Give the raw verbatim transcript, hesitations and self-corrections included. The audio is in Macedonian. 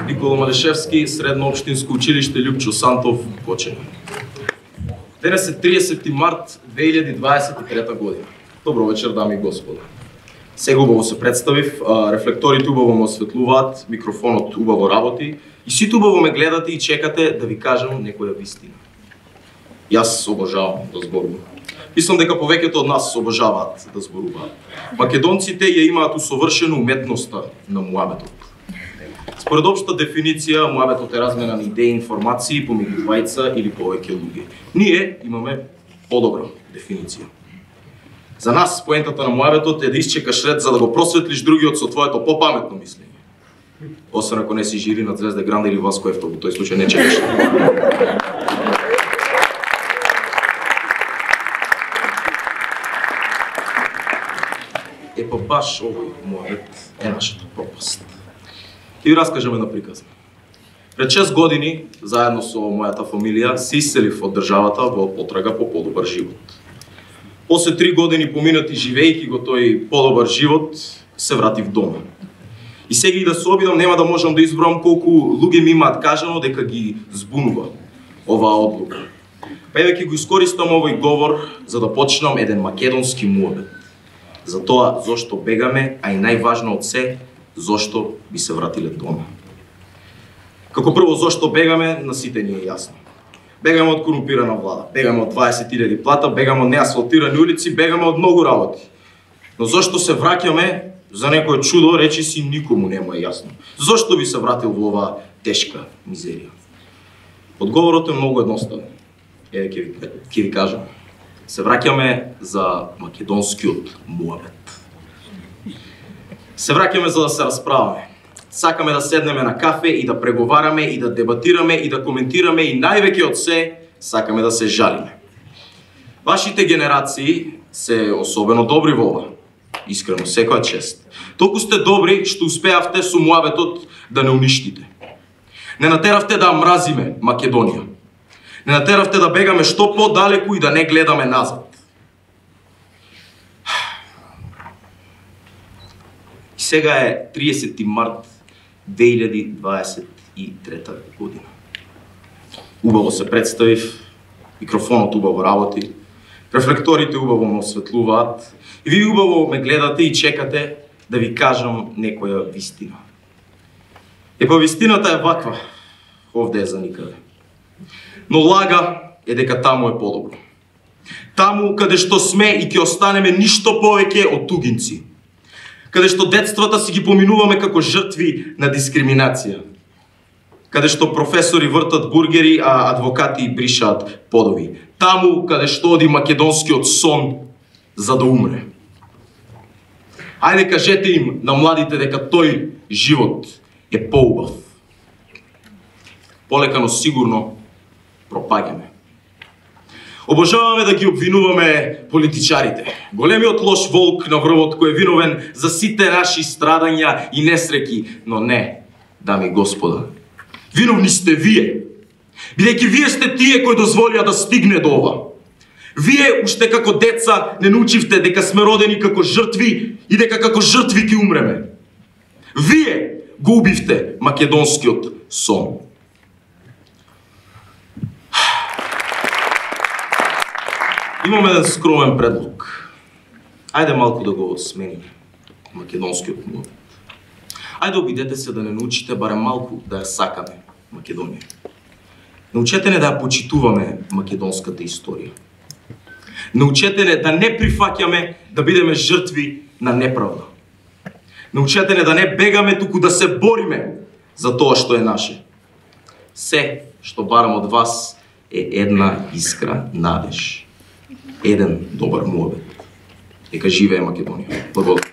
Никола Малишевски, Средно општинско училиште Љупчо Сантов, Кочани. Денес е триесети март две илјади дваесет и трета година. Добро вечер, дами и господа. Сега убаво се представив, рефлекторите убаво ме осветлуваат, микрофонот убаво работи и сите убаво ме гледате и чекате да ви кажам некоја вистина. Јас обожавам да зборувам. Мислам дека повеќето од нас обожаваат да зборуваат. Македонците ја имаат усовршено уметноста на муабетот. Според општа дефиниција, муабетот е размена на идеи и информации помеѓу двајца или повеќе луѓе. Ние имаме подобра дефиниција. За нас поентата на муабетот е да исчекаш ред за да го просветлиш другиот со твоето попаметно мислење. Освен ако не си жири на Звезда Гранда или Васко Ефтов, во тој случај не чекаш. Е па баш овој муабет е нашата пропаст. Ќе ви раскажам една приказна. Пред шест години, заедно со мојата фамилија, се иселив од државата во потрага по подобар живот. После три години поминати живејќи го тој подобар живот, се вратив дома. И сега и да се обидам, нема да можам да изброам колку луѓе ми имаат кажано дека ги збунува оваа одлука. Па еве ќе го искористам овој говор за да почнам еден македонски муабет. За тоа зошто бегаме, а и најважно од се, зошто би се вратиле дома. Како прво, зошто бегаме, на сите ни е јасно. Бегаме од корумпирана влада, бегаме од дваесет илјади плата, бегаме од неасфалтирани улици, бегаме од многу работи. Но зошто се враќаме, за некое чудо, речи си никому нема јасно. Зошто би се вратил во оваа тешка мизерија? Одговорот е многу едноставен. Еве ќе ви, ќе ви кажам. Се враќаме за македонскиот муабет. Се враќаме за да се расправаме. Сакаме да седнеме на кафе и да преговараме и да дебатираме и да коментираме и највеќе од се сакаме да се жалиме. Вашите генерации се особено добри во ова. Искрено, секоја чест. Толку сте добри што успеавте со муабетот да не уништите. Не натеравте да мразиме Македонија. Не натеравте да бегаме што подалеку и да не гледаме назад. И сега е триесети март две илјади дваесет и трета година. Убаво се представив, микрофонот убаво работи, рефлекторите убаво ме осветлуваат и ви убаво ме гледате и чекате да ви кажам некоја вистина. Епа вистината е ваква, овде е за никаде. Но лага е дека таму е подобро. Таму каде што сме и ќе останеме ништо повеќе од тугинци. Каде што детствата си ги поминуваме како жртви на дискриминација. Каде што професори вртат бургери, а адвокати бришаат подови. Таму каде што оди македонскиот сон за да умре. Ајде кажете им на младите дека тој живот е поубав. Полека, но сигурно пропаѓаме. Обожаваме да ги обвинуваме политичарите. Големиот лош волк на врвот кој е виновен за сите наши страдања и несреќи, но не, дами и господа. Виновни сте вие. Бидејќи вие сте тие кои дозволија да стигне до ова. Вие уште како деца не научивте дека сме родени како жртви и дека како жртви ќе умреме. Вие го убивте македонскиот сон. Имаме еден скромен предлог. Ајде малку да го смениме македонскиот муабет. Ајде обидете се да не научите барем малку да ја сакаме Македонија. Научете не да ја почитуваме македонската историја. Научете не да не прифаќаме да бидеме жртви на неправда. Научете не да не бегаме, туку да се бориме за тоа што е наше. Се што барам од вас е една искра надеж. Еден добар муабет. Нека живее Македонија. Благодарам.